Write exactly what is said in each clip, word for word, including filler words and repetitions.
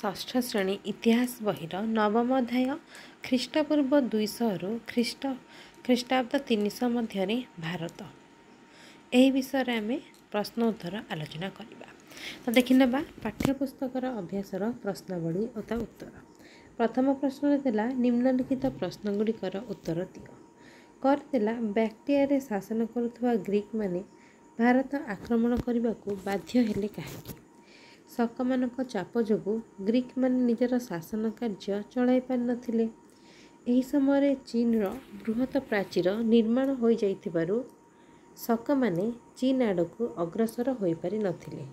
ଷଷ୍ଠ ଶ୍ରେଣୀ ଇତିହାସ ବହିର ନବମ ଅଧ୍ୟାୟ ଖ୍ରୀଷ୍ଟପୂର୍ବ ଦୁଇଶହରୁ ଖ୍ରୀଷ୍ଟ ଖ୍ରୀଷ୍ଟାବ୍ଦ ତିନିଶହ ମଧ୍ୟରେ ଭାରତ, ଏହି ବିଷୟରେ ଆମେ ପ୍ରଶ୍ନ ଉତ୍ତର ଆଲୋଚନା କରିବା। ତ ଦେଖିନେବା ପାଠ୍ୟପୁସ୍ତକର ଅଭ୍ୟାସର ପ୍ରଶ୍ନାବଳୀ ଓ ତା ଉତ୍ତର। ପ୍ରଥମ ପ୍ରଶ୍ନରେ ଥିଲା, ନିମ୍ନଲିଖିତ ପ୍ରଶ୍ନଗୁଡ଼ିକର ଉତ୍ତର ଦିଅ। କରିଥିଲା, ବ୍ୟାକ୍ଟ୍ରିଆରେ ଶାସନ କରୁଥିବା ଗ୍ରୀକମାନେ ଭାରତ ଆକ୍ରମଣ କରିବାକୁ ବାଧ୍ୟ ହେଲେ କାହିଁକି? ଶକମାନଙ୍କ ଚାପ ଯୋଗୁଁ ଗ୍ରୀକମାନେ ନିଜର ଶାସନ କାର୍ଯ୍ୟ ଚଳାଇ ପାରିନଥିଲେ। ଏହି ସମୟରେ ଚୀନର ବୃହତ ପ୍ରାଚୀର ନିର୍ମାଣ ହୋଇଯାଇଥିବାରୁ ଶକମାନେ ଚୀନ ଆଡ଼କୁ ଅଗ୍ରସର ହୋଇପାରିନଥିଲେ।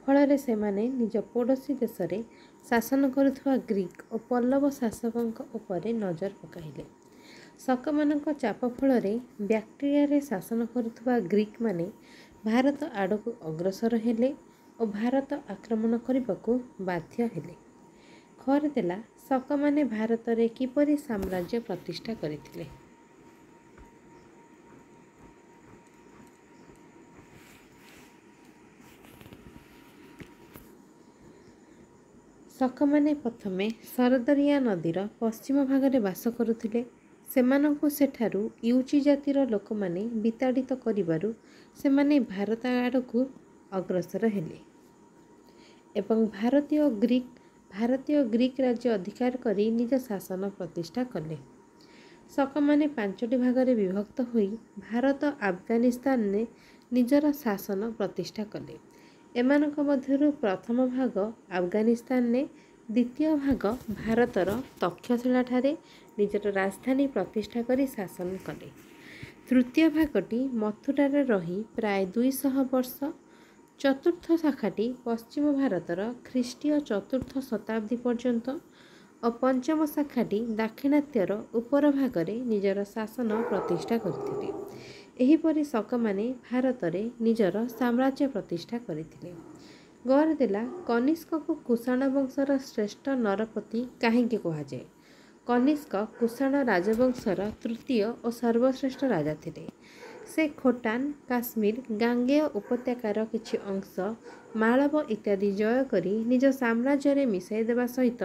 ଫଳରେ ସେମାନେ ନିଜ ପଡ଼ୋଶୀ ଦେଶରେ ଶାସନ କରୁଥିବା ଗ୍ରୀକ ଓ ପଲ୍ଲବ ଶାସକଙ୍କ ଉପରେ ନଜର ପକାଇଲେ। ଶକମାନଙ୍କ ଚାପ ଫଳରେ ବ୍ୟାକ୍ଟ୍ରିଆରେ ଶାସନ କରୁଥିବା ଗ୍ରୀକମାନେ ଭାରତ ଆଡ଼କୁ ଅଗ୍ରସର ହେଲେ ଓ ଭାରତ ଆକ୍ରମଣ କରିବାକୁ ବାଧ୍ୟ ହେଲେ। ଖରେ ଦେଲା, ଶକମାନେ ଭାରତରେ କିପରି ସାମ୍ରାଜ୍ୟ ପ୍ରତିଷ୍ଠା କରିଥିଲେ? ଶକମାନେ ପ୍ରଥମେ ସରଦରିଆ ନଦୀର ପଶ୍ଚିମ ଭାଗରେ ବାସ କରୁଥିଲେ। ସେମାନଙ୍କୁ ସେଠାରୁ ୟୁଚି ଜାତିର ଲୋକମାନେ ବିତାଡ଼ିତ କରିବାରୁ ସେମାନେ ଭାରତ ଆଡ଼କୁ ଅଗ୍ରସର ହେଲେ ଏବଂ ଭାରତୀୟ ଗ୍ରୀକ ଭାରତୀୟ ଗ୍ରୀକ ରାଜ୍ୟ ଅଧିକାର କରି ନିଜ ଶାସନ ପ୍ରତିଷ୍ଠା କଲେ। ଶକମାନେ ପାଞ୍ଚଟି ଭାଗରେ ବିଭକ୍ତ ହୋଇ ଭାରତ, ଆଫଗାନିସ୍ତାନରେ ନିଜର ଶାସନ ପ୍ରତିଷ୍ଠା କଲେ। ଏମାନଙ୍କ ମଧ୍ୟରୁ ପ୍ରଥମ ଭାଗ ଆଫଗାନିସ୍ତାନରେ, ଦ୍ୱିତୀୟ ଭାଗ ଭାରତର ତକ୍ଷଶିଳାଠାରେ ନିଜର ରାଜଧାନୀ ପ୍ରତିଷ୍ଠା କରି ଶାସନ କଲେ। ତୃତୀୟ ଭାଗଟି ମଥୁରାରେ ରହି ପ୍ରାୟ ଦୁଇଶହ ବର୍ଷ, ଚତୁର୍ଥ ଶାଖାଟି ପଶ୍ଚିମ ଭାରତର ଖ୍ରୀଷ୍ଟୀୟ ଚତୁର୍ଥ ଶତାବ୍ଦୀ ପର୍ଯ୍ୟନ୍ତ ଓ ପଞ୍ଚମ ଶାଖାଟି ଦାକ୍ଷିଣାତ୍ୟର ଉପର ଭାଗରେ ନିଜର ଶାସନ ପ୍ରତିଷ୍ଠା କରିଥିଲେ। ଏହିପରି ଶକମାନେ ଭାରତରେ ନିଜର ସାମ୍ରାଜ୍ୟ ପ୍ରତିଷ୍ଠା କରିଥିଲେ। ଗରେ ଦେଲା, କନିଷ୍କକୁ କୁଷାଣ ବଂଶର ଶ୍ରେଷ୍ଠ ନରପତି କାହିଁକି କୁହାଯାଏ? କନିଷ୍କ କୁଷାଣ ରାଜବଂଶର ତୃତୀୟ ଓ ସର୍ବଶ୍ରେଷ୍ଠ ରାଜା ଥିଲେ। ସେ ଖୋଟାନ, କାଶ୍ମୀର, ଗାଙ୍ଗେୟ ଉପତ୍ୟକାର କିଛି ଅଂଶ, ମାଳବ ଇତ୍ୟାଦି ଜୟ କରି ନିଜ ସାମ୍ରାଜ୍ୟରେ ମିଶାଇ ଦେବା ସହିତ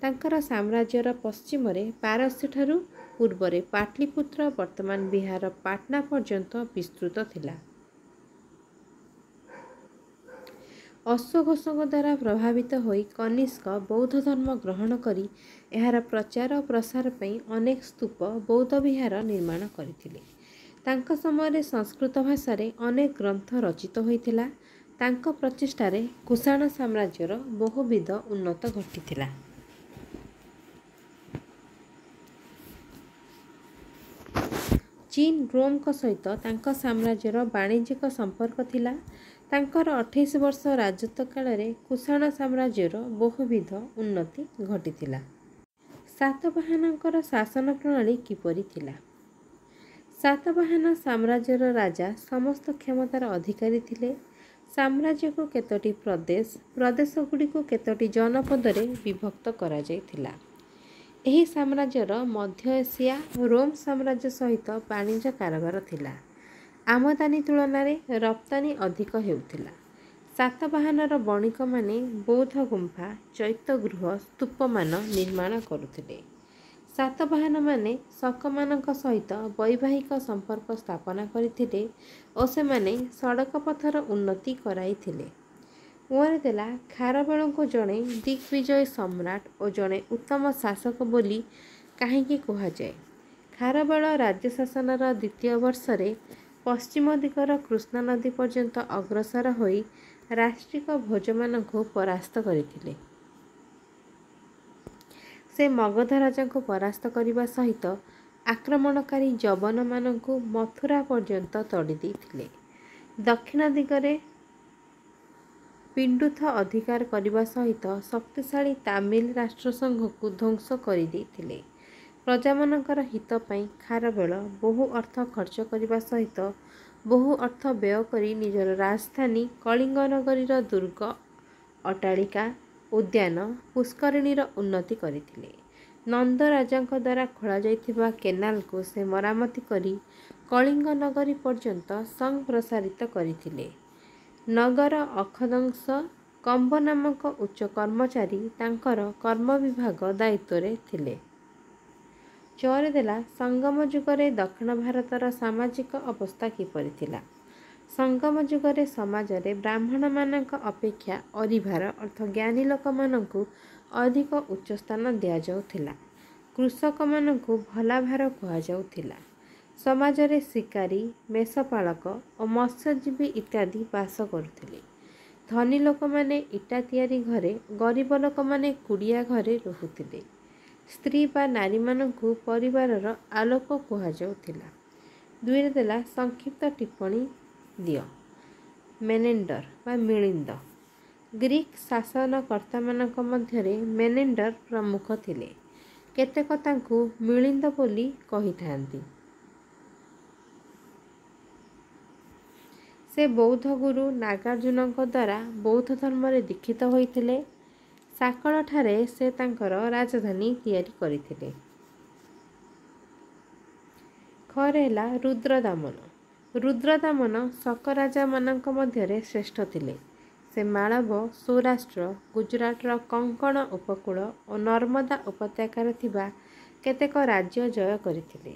ତାଙ୍କର ସାମ୍ରାଜ୍ୟର ପଶ୍ଚିମରେ ପାରସ୍ୟଠାରୁ ପୂର୍ବରେ ପାଟଲିପୁତ୍ର, ବର୍ତ୍ତମାନ ବିହାର ପାଟନା ପର୍ଯ୍ୟନ୍ତ ବିସ୍ତୃତ ଥିଲା। ଅଶ୍ୱଘୋଷଙ୍କ ଦ୍ୱାରା ପ୍ରଭାବିତ ହୋଇ କନିଷ୍କ ବୌଦ୍ଧ ଧର୍ମ ଗ୍ରହଣ କରି ଏହାର ପ୍ରଚାର ଓ ପ୍ରସାର ପାଇଁ ଅନେକ ସ୍ତୂପ, ବୌଦ୍ଧ ବିହାର ନିର୍ମାଣ କରିଥିଲେ। ତାଙ୍କ ସମୟରେ ସଂସ୍କୃତ ଭାଷାରେ ଅନେକ ଗ୍ରନ୍ଥ ରଚିତ ହୋଇଥିଲା। ତାଙ୍କ ପ୍ରଚେଷ୍ଟାରେ କୁଷାଣ ସାମ୍ରାଜ୍ୟର ବହୁବିଧ ଉନ୍ନତ ଘଟିଥିଲା। ଚୀନ, ରୋମଙ୍କ ସହିତ ତାଙ୍କ ସାମ୍ରାଜ୍ୟର ବାଣିଜ୍ୟିକ ସମ୍ପର୍କ ଥିଲା। ତାଙ୍କର ଅଠେଇଶ ବର୍ଷ ରାଜତ୍ୱ କାଳରେ କୁଷାଣ ସାମ୍ରାଜ୍ୟର ବହୁବିଧ ଉନ୍ନତି ଘଟିଥିଲା। ସାତବାହନଙ୍କର ଶାସନ ପ୍ରଣାଳୀ କିପରି ଥିଲା? ସାତବାହନ ସାମ୍ରାଜ୍ୟର ରାଜା ସମସ୍ତ କ୍ଷମତାର ଅଧିକାରୀ ଥିଲେ। ସାମ୍ରାଜ୍ୟକୁ କେତୋଟି ପ୍ରଦେଶ, ପ୍ରଦେଶଗୁଡ଼ିକୁ କେତୋଟି ଜନପଦରେ ବିଭକ୍ତ କରାଯାଇଥିଲା। ଏହି ସାମ୍ରାଜ୍ୟର ମଧ୍ୟ ଏସିଆ, ରୋମ ସାମ୍ରାଜ୍ୟ ସହିତ ବାଣିଜ୍ୟ କାରବାର ଥିଲା। ଆମଦାନୀ ତୁଳନାରେ ରପ୍ତାନି ଅଧିକ ହେଉଥିଲା। ସାତବାହନର ବଣିକମାନେ ବୌଦ୍ଧ ଗୁମ୍ଫା, ଚୈତ୍ୟଗୃହ, ସ୍ତୂପମାନ ନିର୍ମାଣ କରୁଥିଲେ। ସାତବାହନମାନେ ଶକମାନଙ୍କ ସହିତ ବୈବାହିକ ସମ୍ପର୍କ ସ୍ଥାପନା କରିଥିଲେ ଓ ସେମାନେ ସଡ଼କ ପଥର ଉନ୍ନତି କରାଇଥିଲେ। ଉଆରେ ଦେଲା, ଖାରବେଳଙ୍କୁ ଜଣେ ଦିଗ୍ବିଜୟୀ ସମ୍ରାଟ ଓ ଜଣେ ଉତ୍ତମ ଶାସକ ବୋଲି କାହିଁକି କୁହାଯାଏ? ଖାରବେଳ ରାଜ୍ୟ ଶାସନର ଦ୍ୱିତୀୟ ବର୍ଷରେ ପଶ୍ଚିମ ଦିଗର କୃଷ୍ଣା ନଦୀ ପର୍ଯ୍ୟନ୍ତ ଅଗ୍ରସର ହୋଇ ରାଷ୍ଟ୍ରିକ ଭୋଜମାନଙ୍କୁ ପରାସ୍ତ କରିଥିଲେ। ସେ ମଗଧ ରାଜାଙ୍କୁ ପରାସ୍ତ କରିବା ସହିତ ଆକ୍ରମଣକାରୀ ଯବନମାନଙ୍କୁ ମଥୁରା ପର୍ଯ୍ୟନ୍ତ ତଡ଼ି ଦେଇଥିଲେ। ଦକ୍ଷିଣ ଦିଗରେ ପିଣ୍ଡୁଥ ଅଧିକାର କରିବା ସହିତ ଶକ୍ତିଶାଳୀ ତାମିଲ ରାଷ୍ଟ୍ରସଂଘକୁ ଧ୍ୱଂସ କରିଦେଇଥିଲେ। ପ୍ରଜାମାନଙ୍କର ହିତ ପାଇଁ ଖାରବେଳ ବହୁ ଅର୍ଥ ଖର୍ଚ୍ଚ କରିବା ସହିତ ବହୁ ଅର୍ଥ ବ୍ୟୟ କରି ନିଜର ରାଜଧାନୀ କଳିଙ୍ଗନଗରୀର ଦୁର୍ଗ, ଅଟ୍ଟାଳିକା, ଉଦ୍ୟାନ, ପୁଷ୍କରିଣୀର ଉନ୍ନତି କରିଥିଲେ। ନନ୍ଦ ରାଜାଙ୍କ ଦ୍ୱାରା ଖୋଳାଯାଇଥିବା କେନାଲକୁ ସେ ମରାମତି କରି କଳିଙ୍ଗ ନଗରୀ ପର୍ଯ୍ୟନ୍ତ ସଂପ୍ରସାରିତ କରିଥିଲେ। ନଗର ଅକ୍ଷଦଂଶ କମ୍ବ ନାମକ ଉଚ୍ଚ କର୍ମଚାରୀ ତାଙ୍କର କର୍ମବିଭାଗ ଦାୟିତ୍ୱରେ ଥିଲେ। ଚରେ ଦେଲା ସଙ୍ଗମ ଯୁଗରେ ଦକ୍ଷିଣ ଭାରତର ସାମାଜିକ ଅବସ୍ଥା କିପରି ଥିଲା? ସଙ୍ଗମ ଯୁଗରେ ସମାଜରେ ବ୍ରାହ୍ମଣମାନଙ୍କ ଅପେକ୍ଷା ଅରିଭାର ଅର୍ଥ ଜ୍ଞାନୀ ଲୋକମାନଙ୍କୁ ଅଧିକ ଉଚ୍ଚ ସ୍ଥାନ ଦିଆଯାଉଥିଲା। କୃଷକମାନଙ୍କୁ ଭଲାଭାର କୁହାଯାଉଥିଲା। ସମାଜରେ ଶିକାରୀ, ମେଷପାଳକ ଓ ମତ୍ସ୍ୟଜୀବୀ ଇତ୍ୟାଦି ବାସ କରୁଥିଲେ। ଧନୀ ଲୋକମାନେ ଇଟା ତିଆରି ଘରେ, ଗରିବ ଲୋକମାନେ କୁଡ଼ିଆ ଘରେ ରହୁଥିଲେ। ସ୍ତ୍ରୀ ବା ନାରୀମାନଙ୍କୁ ପରିବାରର ଆଲୋକ କୁହାଯାଉଥିଲା। ଦୁଇରେ ଦେଲା ସଂକ୍ଷିପ୍ତ ଟିପ୍ପଣୀ ଦିଅ। ମେନେଣ୍ଡର ବା ମିଳିନ୍ଦ। ଗ୍ରୀକ୍ ଶାସନକର୍ତ୍ତାମାନଙ୍କ ମଧ୍ୟରେ ମେନେଣ୍ଡର ପ୍ରମୁଖ ଥିଲେ। କେତେକ ତାଙ୍କୁ ମିଳିନ୍ଦ ବୋଲି କହିଥାନ୍ତି। ସେ ବୌଦ୍ଧ ଗୁରୁ ନାଗାର୍ଜୁନଙ୍କ ଦ୍ୱାରା ବୌଦ୍ଧ ଧର୍ମରେ ଦୀକ୍ଷିତ ହୋଇଥିଲେ। ସାକଳଠାରେ ସେ ତାଙ୍କର ରାଜଧାନୀ ତିଆରି କରିଥିଲେ। ଖରେ ହେଲା ରୁଦ୍ରଦାମନ। ରୁଦ୍ରଦାମନ ଶକ ରାଜାମାନଙ୍କ ମଧ୍ୟରେ ଶ୍ରେଷ୍ଠ ଥିଲେ। ସେ ମାଳବ, ସୌରାଷ୍ଟ୍ର, ଗୁଜରାଟର କଙ୍କଣ ଉପକୂଳ ଓ ନର୍ମଦା ଉପତ୍ୟକାରେ ଥିବା କେତେକ ରାଜ୍ୟ ଜୟ କରିଥିଲେ।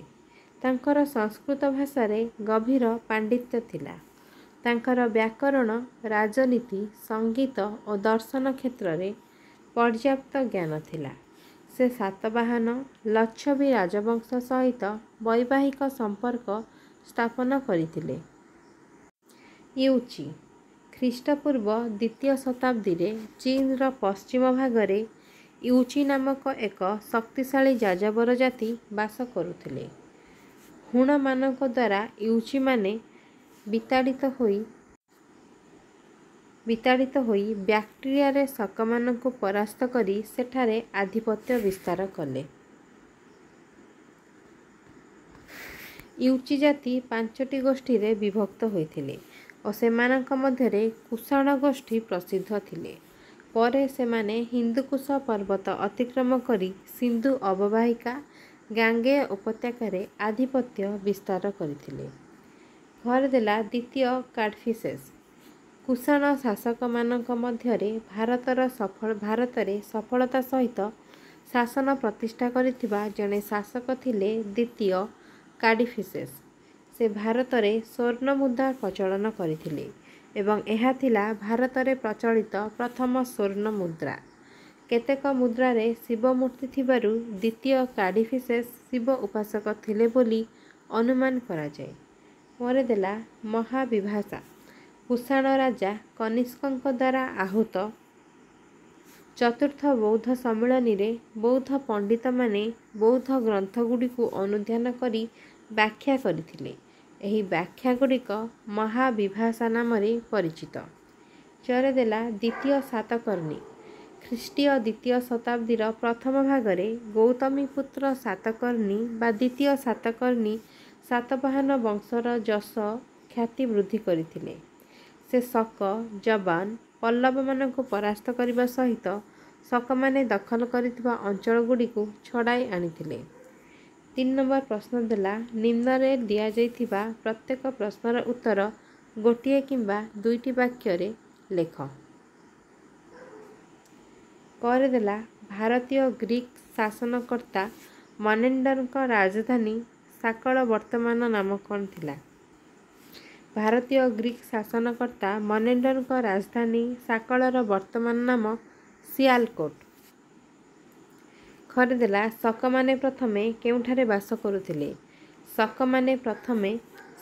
ତାଙ୍କର ସଂସ୍କୃତ ଭାଷାରେ ଗଭୀର ପାଣ୍ଡିତ୍ୟ ଥିଲା। ତାଙ୍କର ବ୍ୟାକରଣ, ରାଜନୀତି, ସଙ୍ଗୀତ ଓ ଦର୍ଶନ କ୍ଷେତ୍ରରେ ପର୍ଯ୍ୟାପ୍ତ ଜ୍ଞାନ ଥିଲା। ସେ ସାତବାହନ, ଲଚ୍ଛବୀ ରାଜବଂଶ ସହିତ ବୈବାହିକ ସମ୍ପର୍କ ସ୍ଥାପନ କରିଥିଲେ। ୟୁଚି। ଖ୍ରୀଷ୍ଟପୂର୍ବ ଦ୍ୱିତୀୟ ଶତାବ୍ଦୀରେ ଚୀନର ପଶ୍ଚିମ ଭାଗରେ ୟୁଚି ନାମକ ଏକ ଶକ୍ତିଶାଳୀ ଯାଯାବର ଜାତି ବାସ କରୁଥିଲେ। ହୁଣମାନଙ୍କ ଦ୍ୱାରା ୟୁଚିମାନେ ବିତାଡ଼ିତ ହୋଇ ବିତାଡ଼ିତ ହୋଇ ବ୍ୟାକ୍ଟ୍ରିଆରେ ଶକମାନଙ୍କୁ ପରାସ୍ତ କରି ସେଠାରେ ଆଧିପତ୍ୟ ବିସ୍ତାର କଲେ। ୟୁଚି ଜାତି ପାଞ୍ଚଟି ଗୋଷ୍ଠୀରେ ବିଭକ୍ତ ହୋଇଥିଲେ ଓ ସେମାନଙ୍କ ମଧ୍ୟରେ କୁଷାଣ ଗୋଷ୍ଠୀ ପ୍ରସିଦ୍ଧ ଥିଲେ। ପରେ ସେମାନେ ହିନ୍ଦୁକୁଶ ପର୍ବତ ଅତିକ୍ରମ କରି ସିନ୍ଧୁ ଅବବାହିକା, ଗାଙ୍ଗେୟ ଉପତ୍ୟକାରେ ଆଧିପତ୍ୟ ବିସ୍ତାର କରିଥିଲେ। ଘରେ ଦେଲା ଦ୍ୱିତୀୟ କାଡ଼ଫିସେସ୍। କୁଷାଣ ଶାସକମାନଙ୍କ ମଧ୍ୟରେ ଭାରତର ସଫଳ ଭାରତରେ ସଫଳତା ସହିତ ଶାସନ ପ୍ରତିଷ୍ଠା କରିଥିବା ଜଣେ ଶାସକ ଥିଲେ ଦ୍ୱିତୀୟ କାଡ଼ିଫିସେସ୍। ସେ ଭାରତରେ ସ୍ୱର୍ଣ୍ଣ ମୁଦ୍ରା ପ୍ରଚଳନ କରିଥିଲେ ଏବଂ ଏହା ଥିଲା ଭାରତରେ ପ୍ରଚଳିତ ପ୍ରଥମ ସ୍ୱର୍ଣ୍ଣ ମୁଦ୍ରା। କେତେକ ମୁଦ୍ରାରେ ଶିବ ମୂର୍ତ୍ତି ଥିବାରୁ ଦ୍ୱିତୀୟ କାଡ଼ିଫିସେସ୍ ଶିବ ଉପାସକ ଥିଲେ ବୋଲି ଅନୁମାନ କରାଯାଏ। ପରେ ଦେଲା ମହାବିଭାଷା। କୁଷାଣ ରାଜା କନିଷ୍କଙ୍କ ଦ୍ୱାରା ଆହୁତ ଚତୁର୍ଥ ବୌଦ୍ଧ ସମ୍ମିଳନୀରେ ବୌଦ୍ଧ ପଣ୍ଡିତମାନେ ବୌଦ୍ଧ ଗ୍ରନ୍ଥଗୁଡ଼ିକୁ ଅନୁଧ୍ୟାନ କରି ବ୍ୟାଖ୍ୟା କରିଥିଲେ। ଏହି ବ୍ୟାଖ୍ୟାଗୁଡ଼ିକ ମହାବିଭାଷା ନାମରେ ପରିଚିତ। ଚରେ ଦେଲା ଦ୍ୱିତୀୟ ସାତକର୍ଣ୍ଣୀ। ଖ୍ରୀଷ୍ଟୀୟ ଦ୍ୱିତୀୟ ଶତାବ୍ଦୀର ପ୍ରଥମ ଭାଗରେ ଗୌତମୀପୁତ୍ର ସାତକର୍ଣ୍ଣୀ ବା ଦ୍ୱିତୀୟ ସାତକର୍ଣ୍ଣୀ ସାତବାହନ ବଂଶର ଯଶ ଖ୍ୟାତି ବୃଦ୍ଧି କରିଥିଲେ। ସେ ଶକ, ଯବାନ, ପଲ୍ଲବମାନଙ୍କୁ ପରାସ୍ତ କରିବା ସହିତ ଶକମାନେ ଦଖଲ କରିଥିବା ଅଞ୍ଚଳଗୁଡ଼ିକୁ ଛଡ଼ାଇ ଆଣିଥିଲେ। ତିନି ନମ୍ବର ପ୍ରଶ୍ନ ଦେଲା ନିମ୍ନରେ ଦିଆଯାଇଥିବା ପ୍ରତ୍ୟେକ ପ୍ରଶ୍ନର ଉତ୍ତର ଗୋଟିଏ କିମ୍ବା ଦୁଇଟି ବାକ୍ୟରେ ଲେଖ। ପରେ ଦେଲା ଭାରତୀୟ ଗ୍ରୀକ୍ ଶାସନକର୍ତ୍ତା ମନେଣ୍ଡରଙ୍କ ରାଜଧାନୀ ସାକଳ ବର୍ତ୍ତମାନ ନାମ କ'ଣ ଥିଲା? ଭାରତୀୟ ଗ୍ରୀକ୍ ଶାସନକର୍ତ୍ତା ମନେଣ୍ଡରଙ୍କ ରାଜଧାନୀ ସାକଳର ବର୍ତ୍ତମାନ ନାମ ସିଆଲକୋଟ। ଖରେ ଦେଲା ଶକମାନେ ପ୍ରଥମେ କେଉଁଠାରେ ବାସ କରୁଥିଲେ? ଶକମାନେ ପ୍ରଥମେ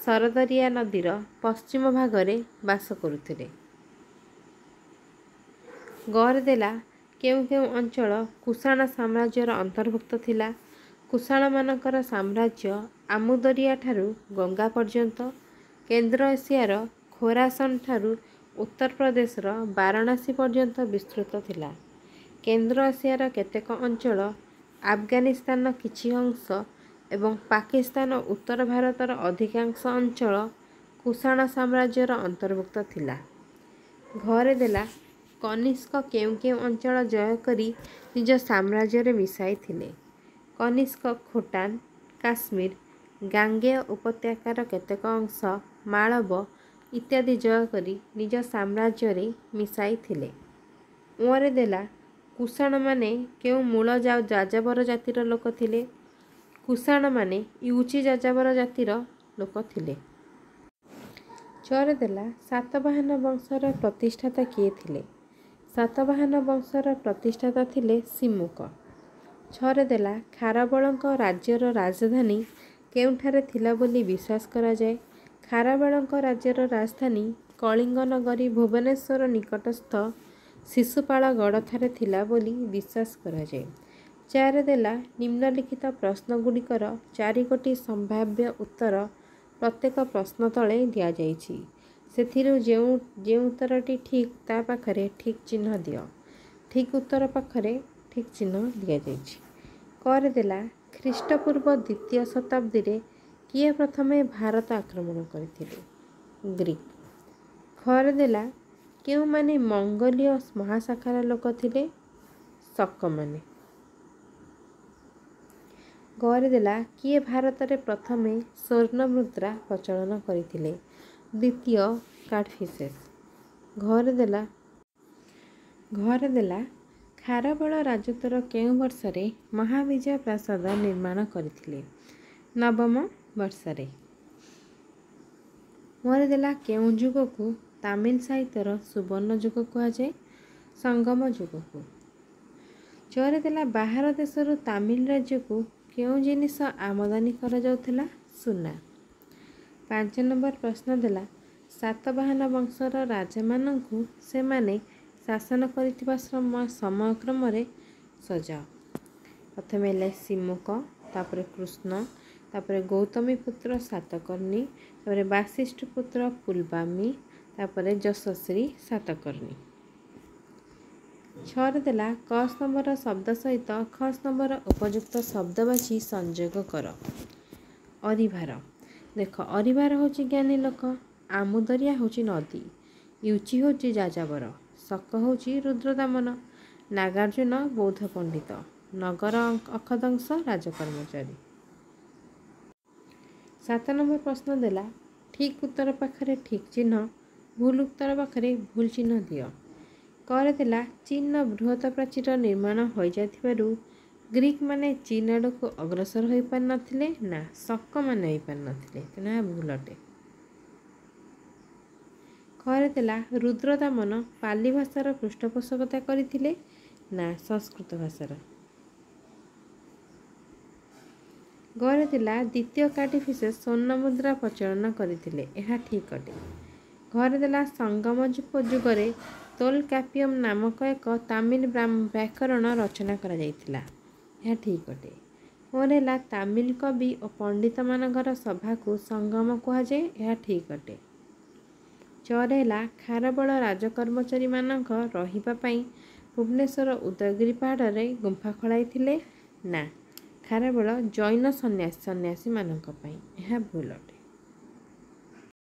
ସରଦରିଆ ନଦୀର ପଶ୍ଚିମ ଭାଗରେ ବାସ କରୁଥିଲେ। ଗରେ ଦେଲା କେଉଁ କେଉଁ ଅଞ୍ଚଳ କୁଷାଣ ସାମ୍ରାଜ୍ୟର ଅନ୍ତର୍ଭୁକ୍ତ ଥିଲା? କୁଷାଣମାନଙ୍କର ସାମ୍ରାଜ୍ୟ ଆମୁଦରିଆଠାରୁ ଗଙ୍ଗା ପର୍ଯ୍ୟନ୍ତ, କେନ୍ଦ୍ର ଏସିଆର ଖୋରାସନଠାରୁ ଉତ୍ତରପ୍ରଦେଶର ବାରାଣସୀ ପର୍ଯ୍ୟନ୍ତ ବିସ୍ତୃତ ଥିଲା। କେନ୍ଦ୍ର ଏସିଆର କେତେକ ଅଞ୍ଚଳ, ଆଫଗାନିସ୍ତାନର କିଛି ଅଂଶ ଏବଂ ପାକିସ୍ତାନ ଓ ଉତ୍ତର ଭାରତର ଅଧିକାଂଶ ଅଞ୍ଚଳ କୁଷାଣ ସାମ୍ରାଜ୍ୟର ଅନ୍ତର୍ଭୁକ୍ତ ଥିଲା। ଘରେ ଦେଲା କନିଷ୍କ କେଉଁ କେଉଁ ଅଞ୍ଚଳ ଜୟ କରି ନିଜ ସାମ୍ରାଜ୍ୟରେ ମିଶାଇଥିଲେ? କନିଷ୍କ ଖୋଟାନ, କାଶ୍ମୀର, ଗାଙ୍ଗେୟ ଉପତ୍ୟକାର କେତେକ ଅଂଶ, ମାଳବ ଇତ୍ୟାଦି ଜୟ କରି ନିଜ ସାମ୍ରାଜ୍ୟରେ ମିଶାଇଥିଲେ। ଓଁରେ ଦେଲା କୁଷାଣମାନେ କେଉଁ ମୂଳ ଯାଯାବର ଜାତିର ଲୋକ ଥିଲେ? କୁଷାଣମାନେ ୟୁଚି ଯାଯାବର ଜାତିର ଲୋକ ଥିଲେ। ଚରେ ଦେଲା ସାତବାହନ ବଂଶର ପ୍ରତିଷ୍ଠାତା କିଏ ଥିଲେ? ସାତବାହନ ବଂଶର ପ୍ରତିଷ୍ଠାତା ଥିଲେ ସିମୁକ। ଛରେ ଦେଲା ଖାରବେଳଙ୍କ ରାଜ୍ୟର ରାଜଧାନୀ କେଉଁଠାରେ ଥିଲା ବୋଲି ବିଶ୍ୱାସ କରାଯାଏ? ଖାରବେଳଙ୍କ ରାଜ୍ୟର ରାଜଧାନୀ କଳିଙ୍ଗ ନଗରୀ ଭୁବନେଶ୍ୱର ନିକଟସ୍ଥ ଶିଶୁପାଳଗଡ଼ଠାରେ ଥିଲା ବୋଲି ବିଶ୍ୱାସ କରାଯାଏ। ଚାରି ଦେଲା ନିମ୍ନଲିଖିତ ପ୍ରଶ୍ନଗୁଡ଼ିକର ଚାରିଗୋଟି ସମ୍ଭାବ୍ୟ ଉତ୍ତର ପ୍ରତ୍ୟେକ ପ୍ରଶ୍ନ ତଳେ ଦିଆଯାଇଛି। ସେଥିରୁ ଯେଉଁ ଯେଉଁ ଉତ୍ତରଟି ଠିକ୍ ତା ପାଖରେ ଠିକ୍ ଚିହ୍ନ ଦିଅ। ଠିକ୍ ଉତ୍ତର ପାଖରେ ଠିକ୍ ଚିହ୍ନ ଦିଆଯାଇଛି। କରେ ଦେଲା ଖ୍ରୀଷ୍ଟପୂର୍ବ ଦ୍ୱିତୀୟ ଶତାବ୍ଦୀରେ କିଏ ପ୍ରଥମେ ଭାରତ ଆକ୍ରମଣ କରିଥିଲେ? ଗ୍ରୀକ୍। ଖରେ ଦେଲା କେଉଁମାନେ ମଙ୍ଗୋଲୀୟ ମହାଶାଖାର ଲୋକ ଥିଲେ? ଶକମାନେ। ଗରେ ଦେଲା କିଏ ଭାରତରେ ପ୍ରଥମେ ସ୍ୱର୍ଣ୍ଣ ମୁଦ୍ରା ପ୍ରଚଳନ କରିଥିଲେ? ଦ୍ୱିତୀୟ କାଡ଼ଫିସେସ୍। ଘରେ ଦେଲା ଘରେ ଦେଲା ଖାରବେଳ ରାଜତ୍ୱର କେଉଁ ବର୍ଷରେ ମହାବିଜୟ ପ୍ରାସାଦ ନିର୍ମାଣ କରିଥିଲେ? ନବମ ବର୍ଷରେ। ମୋର ଦେଲା କେଉଁ ଯୁଗକୁ ତାମିଲ ସାହିତ୍ୟର ସୁବର୍ଣ୍ଣ ଯୁଗ କୁହାଯାଏ? ସଙ୍ଗମ ଯୁଗକୁ। ଚରେ ଦେଲା ବାହାର ଦେଶରୁ ତାମିଲ ରାଜ୍ୟକୁ କେଉଁ ଜିନିଷ ଆମଦାନୀ କରାଯାଉଥିଲା? ସୁନା। ପାଞ୍ଚ ନମ୍ବର ପ୍ରଶ୍ନ ଦେଲା ସାତବାହନ ବଂଶର ରାଜାମାନଙ୍କୁ ସେମାନେ ଶାସନ କରିଥିବା ସମୟକ୍ରମରେ ସଜାଅ। ପ୍ରଥମେ ହେଲେ ସିମୁକ, ତାପରେ କୃଷ୍ଣ, ତାପରେ ଗୌତମୀ ପୁତ୍ର ସାତକର୍ଣ୍ଣି, ତାପରେ ବାସିଷ୍ଠ ପୁତ୍ର ପୁଲବାମୀ, ତାପରେ ଯଶସ୍ୱୀ ସାତକର୍ଣ୍ଣି। ଛଅରେ ଦେଲା କ ସ୍ତମ୍ଭର ଶବ୍ଦ ସହିତ ଖ ସ୍ତମ୍ଭର ଉପଯୁକ୍ତ ଶବ୍ଦ ବାଛି ସଂଯୋଗ କର। ଅରିଭାର। ଦେଖ, ଅରିଭାର ହେଉଛି ଜ୍ଞାନୀ ଲୋକ, ଆମୁଦରିଆ ହେଉଛି ନଦୀ, ୟୁଚି ହେଉଛି ଯାଯାବର, ଶକ ହେଉଛି ରୁଦ୍ରଦାମନ, ନାଗାର୍ଜୁନ ବୌଦ୍ଧ ପଣ୍ଡିତ, ନଗର ଅଖଦଂଶ ରାଜକର୍ମଚାରୀ। ସାତ ନମ୍ବର ପ୍ରଶ୍ନ ଦେଲା ଠିକ୍ ଉତ୍ତର ପାଖରେ ଠିକ୍ ଚିହ୍ନ, ଭୁଲ ଉତ୍ତର ପାଖରେ ଭୁଲ ଚିହ୍ନ ଦିଅ। କରେ ଦେଲା ଚୀନର ବୃହତ ପ୍ରାଚୀର ନିର୍ମାଣ ହୋଇଯାଇଥିବାରୁ ଗ୍ରୀକମାନେ ଚୀନ ଆଡ଼କୁ ଅଗ୍ରସର ହୋଇପାରିନଥିଲେ ନା ଶକମାନେ ହୋଇପାରିନଥିଲେ, ତେଣୁ ଏହା ଭୁଲ ଅଟେ। ଖରେ ଦେଲା ରୁଦ୍ରଦାମନ ପାଲି ଭାଷାର ପୃଷ୍ଠପୋଷକତା କରିଥିଲେ ନା ସଂସ୍କୃତ ଭାଷାର। ଗରେ ଥିଲା ଦ୍ୱିତୀୟ କାର୍ଡିଫିସେସ୍ ସ୍ୱର୍ଣ୍ଣ ମୁଦ୍ରା ପ୍ରଚଳନ କରିଥିଲେ, ଏହା ଠିକ୍ ଅଟେ। ଘରେ ଦେଲା ସଙ୍ଗମ ଯୁଗରେ ତୋଲକାପିୟମ ନାମକ ଏକ ତାମିଲ ବ୍ୟାକରଣ ରଚନା କରାଯାଇଥିଲା, ଏହା ଠିକ୍ ଅଟେ। ପରେ ହେଲା ତାମିଲ କବି ଓ ପଣ୍ଡିତମାନଙ୍କର ସଭାକୁ ସଙ୍ଗମ କୁହାଯାଏ, ଏହା ଠିକ୍ ଅଟେ। ଚରେ ହେଲା ଖାରବେଳ ରାଜକର୍ମଚାରୀମାନଙ୍କ ରହିବା ପାଇଁ ଭୁବନେଶ୍ୱର ଉଦୟଗିରି ପାହାଡ଼ରେ ଗୁମ୍ଫା ଖୋଳାଇଥିଲେ ନା ଖାରବେଳ ଜୈନ ସନ୍ନ୍ୟାସୀ ସନ୍ନ୍ୟାସୀମାନଙ୍କ ପାଇଁ, ଏହା ଭୁଲ ଅଟେ।